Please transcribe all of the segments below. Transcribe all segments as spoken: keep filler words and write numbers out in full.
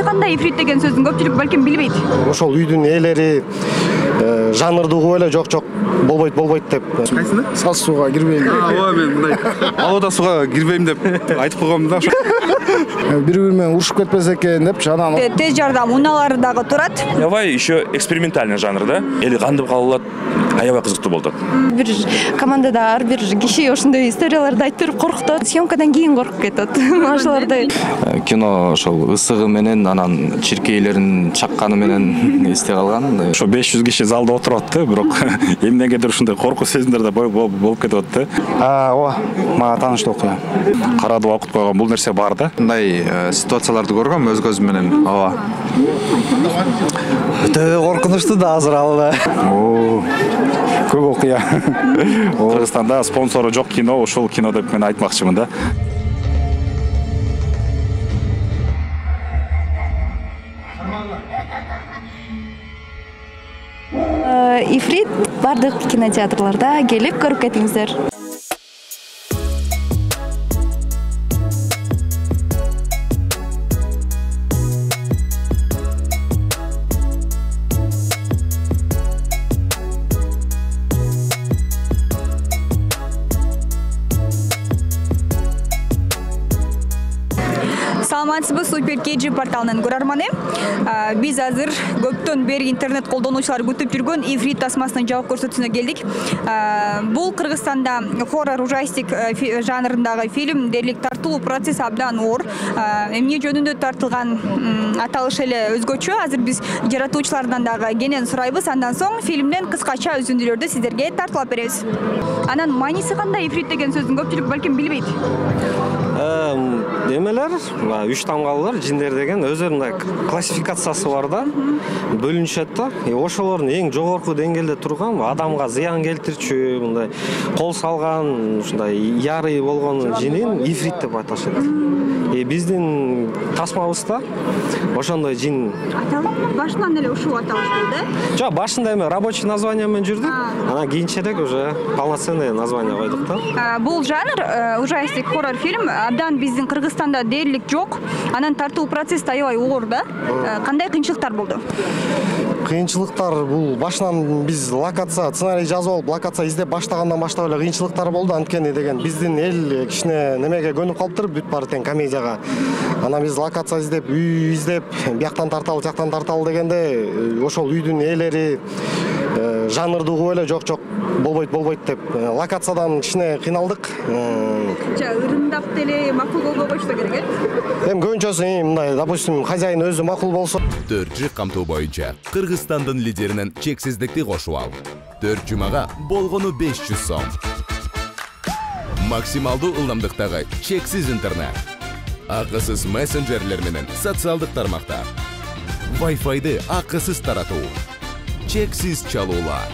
кандай ифрит деген сөздүн көпчүлүк балким билбейт. Ошол үйдүн ээлери жанрды угуп эле жок жок болбойт болбойт деп. Кайсыны? Саз сууга кирбейм. Ооба мен мындай алода сууга кирбейм деп айтып койгом да. Бири-бири менен урушуп кетпесе экен депчи анан. Тез жардам унаалары дагы турат. Аябай еще экспериментальный жанр да. Эли кантип калып алат? Аябай кызыктуу болду. Бир командада ар бир киши ошондой историяларды айтып берип коркутат. Съемкадан кийин коркуп кетет. Ошолорду. Кино ошол ысыгы менен анан чиркейлерин чакканы менен эсте калган. Ошо беш жүз киши залда отуруп атты, бирок эмнегедир ушундай коркуу сезимдер да болуп кетип атты. А, ооба, мага тааныштуу окуя. Карадып окуп койгон бул нерсе бар да. Мындай ситуацияларды көргөм өз көзүм менен. Ооба. Өтө коркунучтуу да азыр ал. Оо. Көп окуя. Кыргызстанда спонсору жок кино, ушул кино деп мен айтмакчымын да. Ифрит бардык кинотеатрларда келип көрүп кетиңиздер. Саламатсызбы, Супер Кеджи порталынын көрөрманы. Биз азыр көптөн бери интернет колдонуучулар күтүп жүргөн Ифрит тасмасынын жабык көрсөтүүсүнө келдик. Бул Кыргызстанда хоррор ужастик жанрындагы фильм дээрлик тартуу процесс абдан оор. Эмне жөнүндө тартылган аталыш эле өзгөчө. Азыр биз жаратуучулардан дагы кенен сурайбыз. Андан соң фильмден кыскача үзүндүлөрдү сиздерге тартуулап беребиз. Анан мааниси кандай Ифрит деген сөздүн көпчүлүк балким билбейт. Эмелер, үч тамгалылар, жиндер деген өзүнүн классификациясы бар да, бөлүнүшөт да. Ошолордун эң жогорку деңгээлде турган, адамга зыян келтирчү, мындай кол салган, ушундай ярый болгон жинин ифрит деп аташат. И биздин тасмабызда ошондой жин башынан эле ушул аталыш болду. Жок, башында эме рабочий название менен жүрдүк. Анан кийинчерээк уже полноценный название койдук да. Бул жанр ужастик хоррор фильм абдан биздин Кыргызстанда дээрлик жок. Анан тартуу процесс аябай оор да. Кандай кыйынчылыктар болду? Кыйынчылыктар бул башынан биз локация, сценарий жазып алып, локация издеп баштагандан баштап эле кыйынчылыктар болду. Анткени деген биздин эл кичине немеге көнүп калыптыр, бүт баары тең комедияга. Анан биз локация издеп, үй издеп, бияктан тарталы, жактан тарталы дегенде ошол үйдүн ээлери жанрды угуп эле жок жок болбойт болбойт деп локациядан кичине кыйналдык. Ырымдап деле макул болбой койсо керек э? Эми көбүнчөсү мындай, допустим, хозяин өзү макул болсо. Төрт жыл камтуу боюнча Кыргызстандын лидеринен чексиздикти кошуп ал. Төрт жумага болгону беш жүз сом. Максималдуу ылдамдыктагы чексиз интернет. Акысыз мессенджерлер менен социалдык тармактар. Wi-Fi'ды акысыз таратуу. Чексиз чалуулар.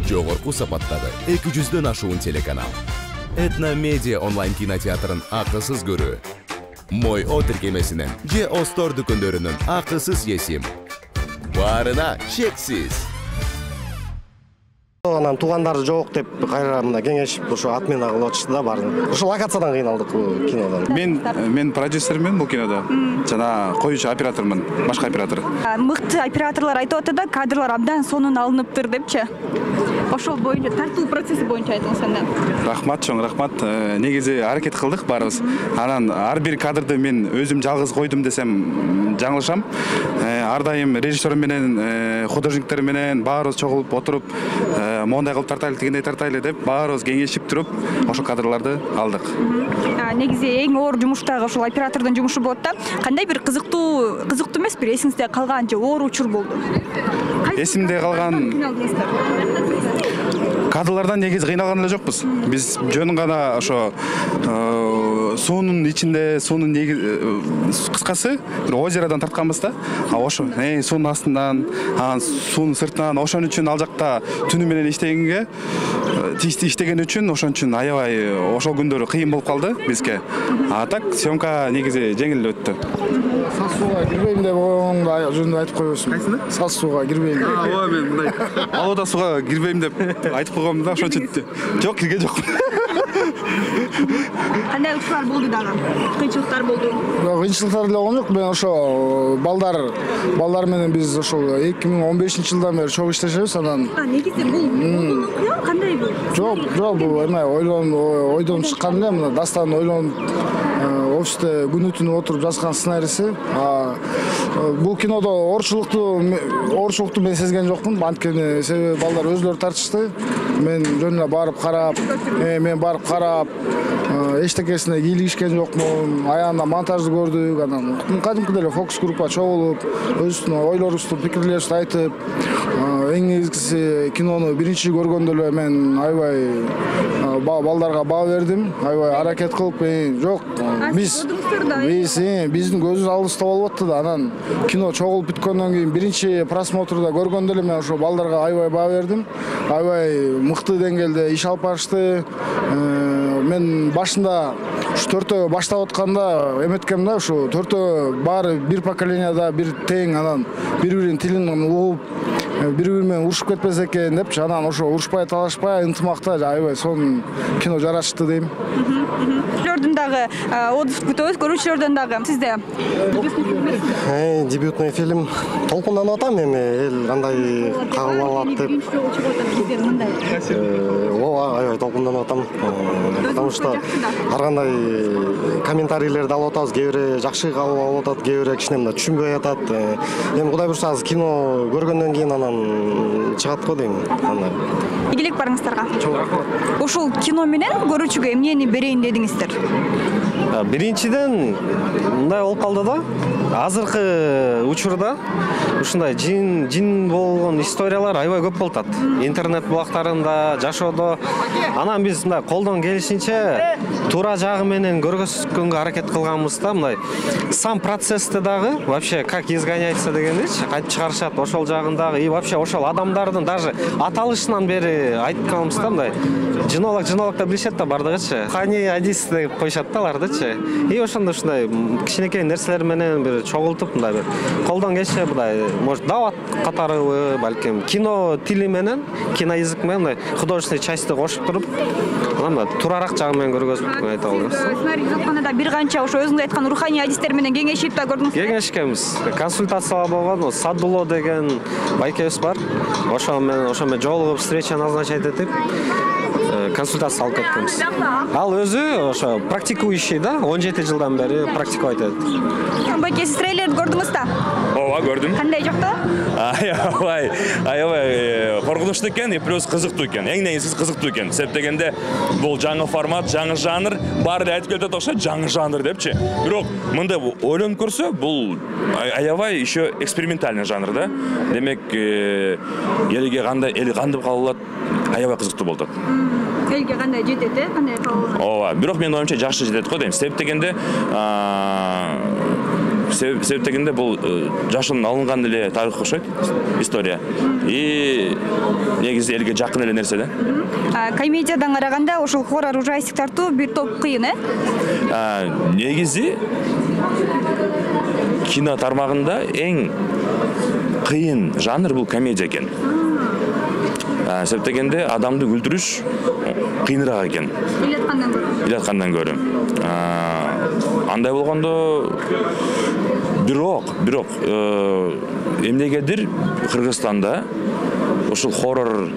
Жогорку сапаттагы эки жүздөн ашуун телеканал. Этно Медиа онлайн кинотеатрын акысыз көрүү. Мой О тиркемесинен же Остор дүкөндөрүнүн акысыз есим. Баарына чексиз. Анан туугандары жок деп кайра мына кеңешип ошо отмена кылып атышты да баарын. Ошо локациядан кыйналдык бул кинодон. Мен мен продюсермин бул кинодо. Жана коюучу оператормун, башка оператор. Мыкты операторлор айтып атты да, кадрлар абдан сонун алыныптыр депчи. Ошол боюнча тартуу процесси боюнча айтыңыз анда. Рахмат, чоң рахмат. Негизи аракет кылдык баарыбыз. Анан ар бир кадрды мен өзүм жалгыз койдум десем жаңылышам. Ар дайым режиссер менен, художниктер менен баарыбыз чогулуп отуруп, мондай кылып тартайлы, тигиндей тартайлы деп баарыбыз кеңешип туруп, ошол кадрларды алдык. Негизи эң оор жумуш дагы ошол оператордун жумушу болот да. Кандай бир кызыктуу, кызыктуу эмес, бир эсиңизде калган же оор учур болду? Эсимде калган кадрлардан негизи кыйналган эле жокпуз. Биз жөн гана ошо суунун ичинде, суунун кыскасы бир озеродан тартканбыз да. Ошо суунун астынан, анан суунун сыртынан, ошон үчүн ал жакта түнү менен иштегенге, иштеген үчүн ошон үчүн аябай ошол күндөрү кыйын болуп калды бизге. А так съемка негизи жеңил өттү. Саз сууга кирбейм деп оңду жөнүндө айтып койбосун. Кайсыны? Саз сууга кирбейм. Ооба мен мындай алода сууга кирбейм деп айтып койгом да, ошон үчүн жок, кирген жокмун. Кандай учурлар болду дагы? Кыйынчылыктар болду. Кыйынчылыктар эле болгон жок. Мен ошо балдар балдар менен биз ошол эки миң он бешинчи жылдан бери чогуу иштешебиз. Анан негизи бул кандай бул? Жок, жок, бул эме ойлон ойдон чыккан эле, мына дастан ойлонуп офисте күнү түнү отуруп жазган сценарийси. Бул кинодо оорчулукту оорчулукту мен сезген жокмун. Анткени себеби балдар өзлөрү тартышты. Мен жөн эле барып карап, мен барып карап, эчтекесине кийлигишкен жокмун. Аягында монтажды көрдүк, анан кадимкидей эле фокус группа чогулуп, өзүбүздүн ойлорубузду, пикирлерибизди айтып, эң негизгиси кинону биринчи көргөндө эле мен аябай балдарга баа бердим. Аябай аракет кылып, жок, биз биз биздин көзүбүз алдыбызда болуп атты да. Анан кино чогулуп бүткөндөн кийин биринчи просмотрда көргөндө эле мен ошо балдарга аябай баа бердим. Аябай мыкты деңгээлде иш алып барышты. Мен башында ушу төртөө баштап атканда эметкем да, ушу төртөө баары бир поколенияда бир тең, анан бири-биринин тилин угуп, бири-бири менен урушуп кетпес экен депчи. Анан ошо урушпай, талашпай, ынтымакта аябай сонун кино жарашты дейм. Көрүүчүлөрдөн дагы отзыв күтөбүз, көрүүчүлөрдөн дагы. Сизде дебютный фильм толкунданып атам, эми эл кандай кабыл алат деп. Ооба, аябай толкунданып атам. Потому что ар кандай комментарийлерди алып атабыз. Кээ бири жакшы кабыл алып атат, кээ бири кичине мындай түшүнбөй атат. Эми Кудай буюрса азыр кино көргөндөн кийин анан чыгат го дейм. Андай. Ийгилик барыңыздарга. Ушул кино менен көрүүчүгө эмнени берейин дедиңиздер? Биринчиден мындай болуп калды да. Азыркы учурда ушундай жин жин болгон историялар аябай көп болуп атат. Интернет булактарында, жашоодо. Анан биз мындай колдон келишинче туура жагы менен көргөзгөнгө аракет кылганбыз да. Мындай сам процессти дагы вообще как изгоняется дегендечи кайтып чыгарышат ошол жагындагы и вообще ошол адамдардын даже аталышынан бери айтканбыз да. Мындай жинолог жинолог деп билишет да бардыгычы. Хани адис деп коюшат да алардычы. И ошондо ушундай кичинекей нерселер менен бир чогултуп мындай бир колдон келсе мындай может дават катарыбы, балким кино тили менен, кино язык менен мындай художественный частьты кошуп туруп, анан туурараак жагы менен көргөзүп айта алабыз. Сценарий жазганда бир канча ошо өзүңүз айткан руханий адистер менен кеңешип да көрдүңүз. Кеңешкенбиз. Консультациялар болгон, Садуло деген байкебиз бар. Ошо менен ошо менен жолугуп встреча назначать этип консультация алып кеткенбиз. Ал өзү ошо практикующий да, он жети жылдан бери практиковать этет. Байке, сиз трейлерди көрдүңүз да? Ооба, көрдүм. Кандай жокто? Аябай, аябай коркунучтуу экен, и плюс кызыктуу экен. Эң негизгиси кызыктуу экен. Себеп дегенде бул жаңы формат, жаңы жанр, баары эле айтып келет окшойт, жаңы жанр депчи. Бирок мындай ойлонуп көрсө, бул аябай еще экспериментальный жанр да. Демек, элге кандай, эл кантип кабыл алат, аябай кызыктуу болот. Элге кандай жетет, э? Кандай кабыл алат? Ооба, бирок менин оюмча жакшы жетет го дейм. Себеп дегенде, себеп дегенде бул жашынан алынган эле тарых окшойт, история. И негизи элге жакын эле нерсе да. Комедиядан караганда ошол хоррор ужастик тартуу бир топ кыйын, э? Негизи кино тармагында эң кыйын жанр бул комедия экен. Себеп дегенде адамды күлдүрүш кыйыныраак экен. Илаткандан көрө. Илаткандан көрө. Андай болгондо бирок, бирок эмнегедир Кыргызстанда ушул хоррор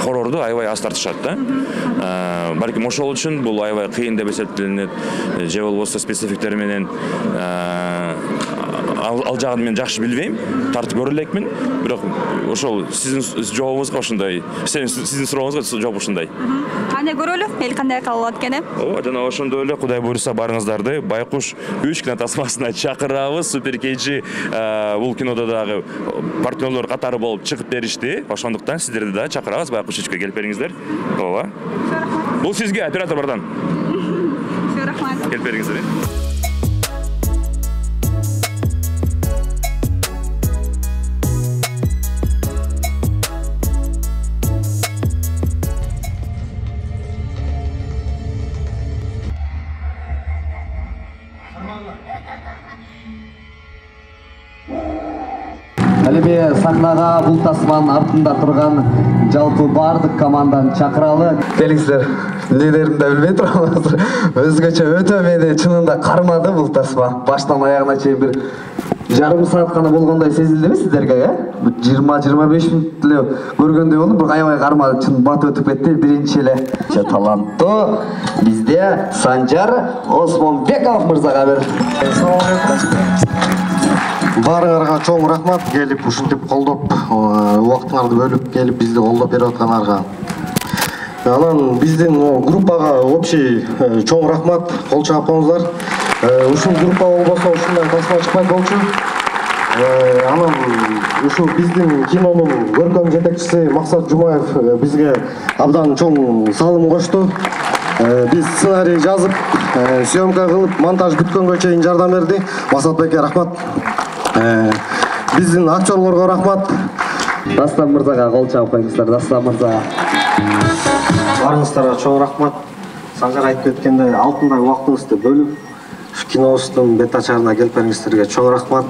хоррорду аябай аз тартышат да. Балким ошол үчүн бул аябай кыйын деп эсептелинет. Же болбосо спецификтер менен ал жагын мен жакшы билбейм, тартып көрө элекмин, бирок ошол сиздин жообуңузга ушундай, сиздин сурооңузга жооп ушундай. Кандай көрөлү? Эл кандай кабыл алат экен? Ооба, жана ошондой эле Кудай буюрса барыңыздарды Байкуш үч кино тасмасына чакырабыз. Супер Кейджи бул кинодо дагы партнерлор катары болуп чыгып беришти. Ошондуктан сиздерди да чакырабыз Байкуш үчкө келип бериңиздер. Ооба. Бул сизге оператор бардан. Рахмат. Келип бериңиздер. Ал эми сахнага бул тасманын артында турган жалпы бардык команданы чакыралы. Келиңиздер. эмнелерин да билбей турам азыр. Өзгөчө өтө мени чынында кармады бул тасма. Баштан аягына чейин бир жарым саат гана болгондой сезилдиби сиздерге, э? жыйырма жыйырма беш мүнөт эле көргөндөй болдум, бирок аябай кармады, чын батып өтүп кетти. Биринчи эле таланттуу бизде Санжар Осмонбеков мырзага бер. Баарыңарга чоң рахмат, келип ушинтип колдоп, убактыңарды бөлүп келип бизди колдоп берип аткандарга. Анан биздин группага общий чоң рахмат, кол чапкансыздар. Ушул группа болбосо ушундай тасма чыкпайт болчу. Анан ушул биздин кинонун көркөм жетекчиси Максат Жумаев бизге абдан чоң салым кошту. Биз сценарий жазып, съемка кылып, монтаж бүткөнгө чейин жардам берди. Максатбекке рахмат. Биздин актерлорго рахмат. Дастан мырзага кол чаап коюңуздар, Дастан мырзага. Барыңыздарга чоң рахмат. Санжар айтып өткөндөй алтындай убактыңызды бөлүп кинобуздун бет ачарына келип бергениңиздерге чоң рахмат.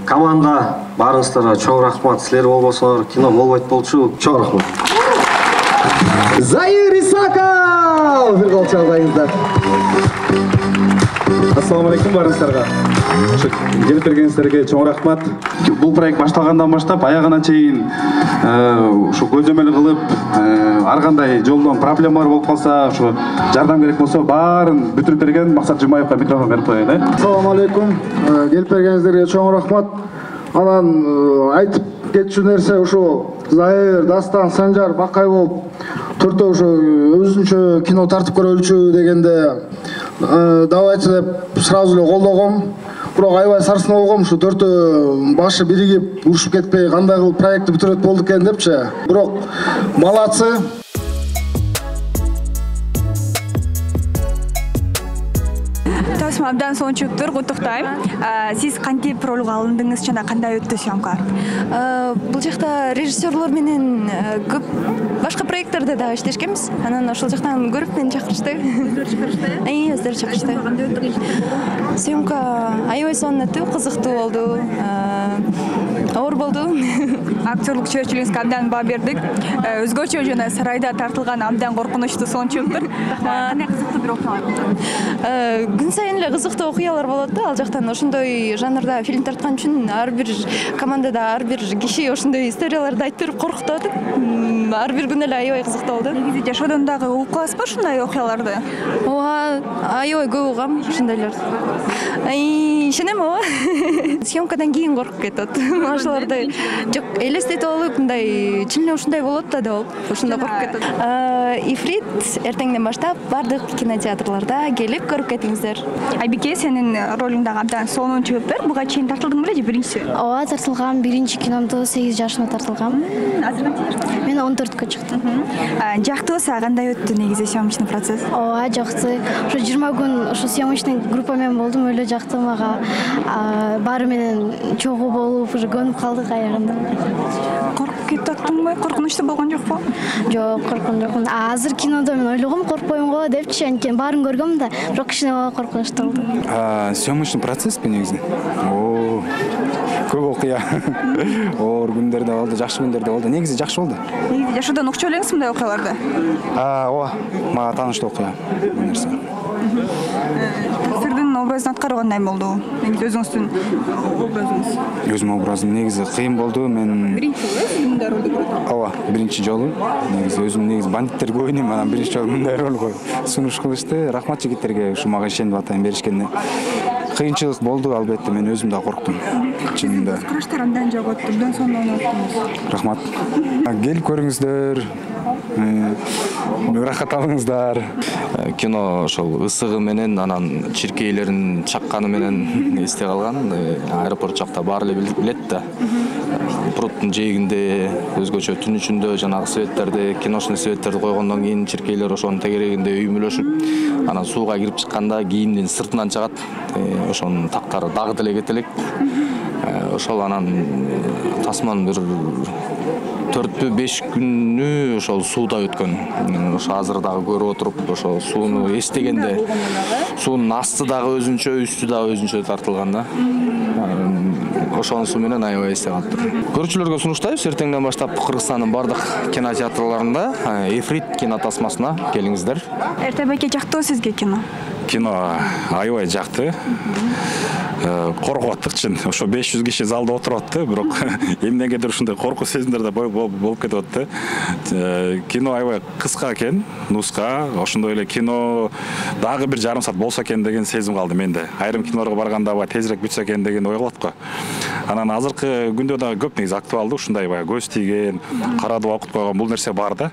Команда барыңыздарга чоң рахмат. Силер болбосоңор кино болбойт болчу. Чоң рахмат. Заир Исаков! Бир кол чаап коюңуздар. Ассаламу алейкум барыңыздарга. Келип бергениңиздерге чоң рахмат. Бул проект башталгандан баштап аягына чейин ушу көзөмөл кылып, ар кандай жолдон проблемалар болуп калса, ушу жардам керек болсо баарын бүтүрүп берген Максат Жумаевга микрофон берип коеюн, э? Ассаламу алейкум. Келип бергениңиздерге чоң рахмат. Анан айтып кетчү нерсе ушу Заир, Дастан, Санжар, Бакай болуп төртөө ушу өзүнчө кино тартып көрөлүчү дегенде давайте деп сразу эле колдогом. Бирок аябай сарсына болгом, ушу төртөө башы биригип, урушуп кетпей кандай кылып проектти бүтүрөт болдук экен депчи. Бирок малацы. Тасма абдан сонун чыктыр, куттуктайм. Сиз кантип ролго алындыңыз жана кандай өттү съемка? Бул жакта режиссерлор менен көп башка проекттерде дагы иштешкенбиз. Анан ошол жактан көрүп мени чакырышты. Өздөрү чакырышты? Ий, өздөрү чакырышты. Кандай өттү? Съемка аябай сонун өттү, кызыктуу болду. Оор болду. Актерлук чеберчилигиңизге абдан баа бердик. Өзгөчө жана сарайда тартылган абдан коркунучтуу сонун чыктыр. Кандай кызыктуу бир окуялар болду? Күн сайын эле кызыктуу окуялар болот да, ал жактан ошондой жанрда фильм тарткан үчүн ар бир командада ар бир киши ошондой историяларды айтып берип коркутуп атат. Ар бир күн эле аябай кызыктуу болду. Негизи жашоодон дагы угуп каласызбы ушундай окуяларды? Ооба, аябай көп угам ушундайларды. Ай, ишенем ооба. Съемкадан кийин коркуп кетет. Ошолорду жок, элестетип алып, мындай чын эле ушундай болот да деп алып, ошондо коркуп кетет. Ифрит эртеңден баштап бардык кинотеатрларда келип көрүп кетиңиздер. Айбике, сенин ролуң дагы абдан сонун чыгыптыр. Буга чейин тартылдың беле же биринчиси? Ооба, тартылгам. Биринчи киномду сегиз жашымда тартылгам. Азыр канча жашта? Мен он төрткө чыктым. Жактыбы, кандай өттү негизи съемочный процесс? Ооба, жакты. Ошо жыйырма күн ошо съемочный группа менен болдум, өлө жакты мага. Баары менен чогуу болуп, уже көнүп калдык аягында. Коркуп кетип аттыңбы? Коркунучтуу болгон жокпу? Жок, корккон жокмун. Азыр кинодо мен ойлогом, коркпойм го депчи, анткени баарын көргөм да, бирок кичине коркунучтуу болду. Съемочный процесспи негизи? Оо, көп окуя. Оор күндөр да болду, жакшы күндөр да болду. Негизи жакшы болду. Негизи жашоодон укчу элеңиз мындай окуяларды? Ооба, мага тааныштуу окуя бул нерсе. Сирдин образын аткаруу кандай болду? Негизи өзүңүздүн образыңыз? Өзүмдүн образым негизи кыйын болду. Мен биринчи жолу сиз мындай ролду көрдүңүз? Ооба, биринчи жолу. Негизи өзүм негизи бандиттерди ойнойм, анан биринчи жолу мындай ролго сунуш кылышты. Рахмат жигиттерге ушу мага ишенип атайын беришкенине. Кыйынчылык болду, албетте, мен өзүм да корктум. Чынында. Караштар абдан жок өттү, абдан сонун ойноттуңуз. Рахмат. Келип көрүңүздөр. Рахат алыңыздар. Кино ошол ысыгы менен, анан чиркейлерин чакканы менен эсте калган. Аэропорт жакта баары эле билет да. Пруттун жээгинде, өзгөчө түн ичинде жанагы светтерди, киношный светтерди койгондон кийин чиркейлер ошонун тегерегинде үймөлөшүп, анан сууга кирип чыкканда кийимдин сыртынан чыгат. ошонун тактары дагы деле кете элек. Ошол анан тасман бир төртпү беш күнү ошол сууда өткөн. Ошо азыр дагы көрүп отуруп, ошо сууну эстегенде суунун асты дагы өзүнчө, үстү дагы өзүнчө тартылган да. Ошонусу менен аябай эсте калыптыр. Көрүүчүлөргө сунуштайбыз, эртеңден баштап Кыргызстандын бардык кинотеатрларында Эфрит кино тасмасына келиңиздер. Эрте байке жактыбы сизге кино? Кино аябай жакты. Коркуп аттыкчы. Ошо беш жүз киши залда отуруп атты, бирок эмнегедир ушундай коркуу сезимдер да болуп кетип атты. Кино аябай кыска экен, нуска. Ошондой эле кино дагы бир жарым саат болсо экен деген сезим калды менде. Айрым кинолорго барганда баягы тезирээк бүтсө экен деген ой калат го. Анан азыркы күндө дагы көп негизи актуалдуу, ушундай баягы көз тийген, карадып окуп койгон бул нерсе бар да.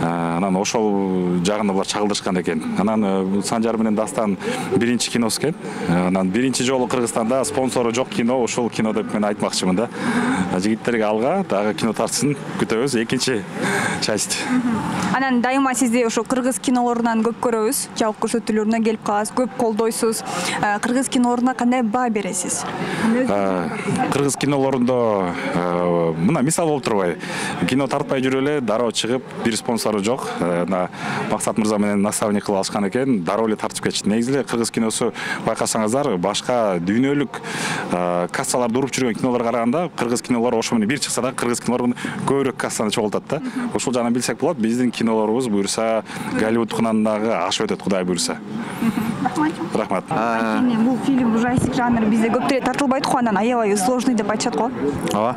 Анан ошол жагында булар чагылдырышкан экен. Анан Санжар менен Дастан биринчи киносу экен. Анан биринчи жолу Кыргызстанда спонсору жок кино, ошол кино деп мен айтмакчымын да. Жигиттерге алга дагы кино тартсын, күтөбүз экинчи часть. Анан дайыма сизди ошо кыргыз кинолорунан көп көрөбүз, жалпы көрсөтүүлөрүнө келип каласыз, көп колдойсуз. Кыргыз кинолоруна кандай баа бересиз? Кыргыз кинолорунда мына мисал болуп турбайбы? Кино тартпай жүрүп эле дароо чыгып, бир спонсору жок. Максат мырза менен наставник кылып алышкан экен, дароо эле тартып кетишти. Негизи эле кыргыз киносу байкасаңыздар, башка дүйнөлүк кассаларды уруп жүргөн кинолорго караганда кыргыз кинолору ошо менен бир чыкса да кыргыз кинолору көбүрөөк кассаны чогултат да. Ошол жагынан билсек болот. Биздин кинолорубуз буюрса Голливудтукунан дагы ашып өтөт, Кудай буюрса. Рахмат. Бул фильм ужастик жанры бизде көп деле тартылбайт го, анан аябай сложный деп айтышат го. Ооба.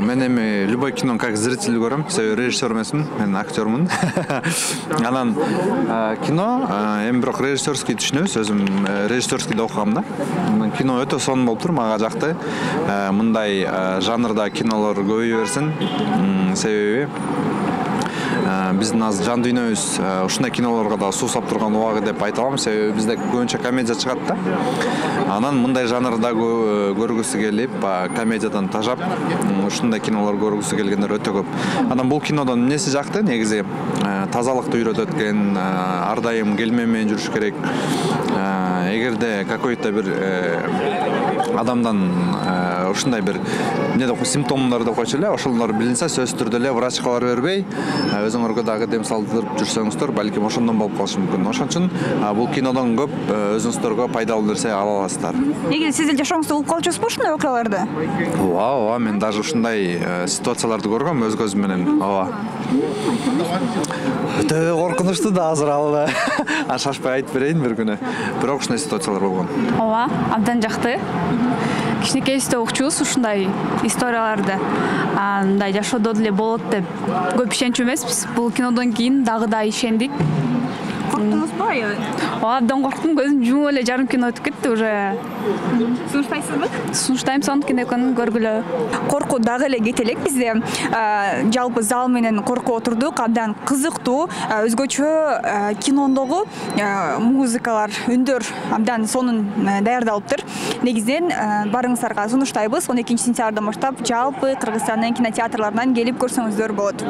Мен эми любой кинону как зритель көрөм. Себеби режиссер эмесмин, мен актёрмун. Анан кино эми бирок режиссерский түшүнөбүз, өзүм режиссерский да окугам да. Кино өтө сонун болуптур, мага жакты. Мындай жанрда кинолор көбөйө берсин. Себеби биздин азыр жан дүйнөбүз ушундай кинолорго да суусап турган убагы деп айта алам. Себеби бизде көбүнчө комедия чыгат да. Анан мындай жанрда көргүсү келип, комедиядан тажап, ушундай кинолор көргүсү келгендер өтө көп. Анан бул кинодон эмнеси жакты? Негизи тазалыкты үйрөтөт экен, ар дайым келме менен жүрүш керек. Эгерде какой-то бир адамдан ушундай бир эмне деп симптомдор деп койчу эле, ошолор билинсе сөзсүз түрдө эле врачка барып бербей, өзүңөргө дагы дем салдырып жүрсөңүздөр, балким ошондон болуп калышы мүмкүн. Ошон үчүн бул кинодон көп өзүңүздөргө пайдалуу нерсе ала аласыздар. Негизи сиз деле жашооңузда болуп калчусузбу ушундай окуяларды? Ооба, ооба, мен даже ушундай ситуацияларды көргөм өз көзүм менен. Ооба. Өтө коркунучтуу да азыр ал. Шашпай айтып берейин бир күнү. Бирок ушундай ситуациялар болгон. Ооба, абдан жакты. Кичинекейибизде окучубуз ушундай историяларды. Мындай жашоодо деле болот деп көп ишенчү эмеспиз. Бул кинодон кийин дагы да ишендик. Корктуңузбу аябай? Ооба, абдан корктум, көзүм жумуп эле жарым кино өтүп кетти уже. Сунуштайсызбы? Сунуштайм, сонун кино экенин көргүлө. Коркуу дагы эле кете элек бизде. Жалпы зал менен коркуп отурдук, абдан кызыктуу, өзгөчө кинодогу музыкалар, үндөр абдан сонун даярдалыптыр. Негизинен барыңыздарга сунуштайбыз. он экинчи сентябрдан баштап жалпы Кыргызстандын кинотеатрларынан келип көрсөңүздөр болот.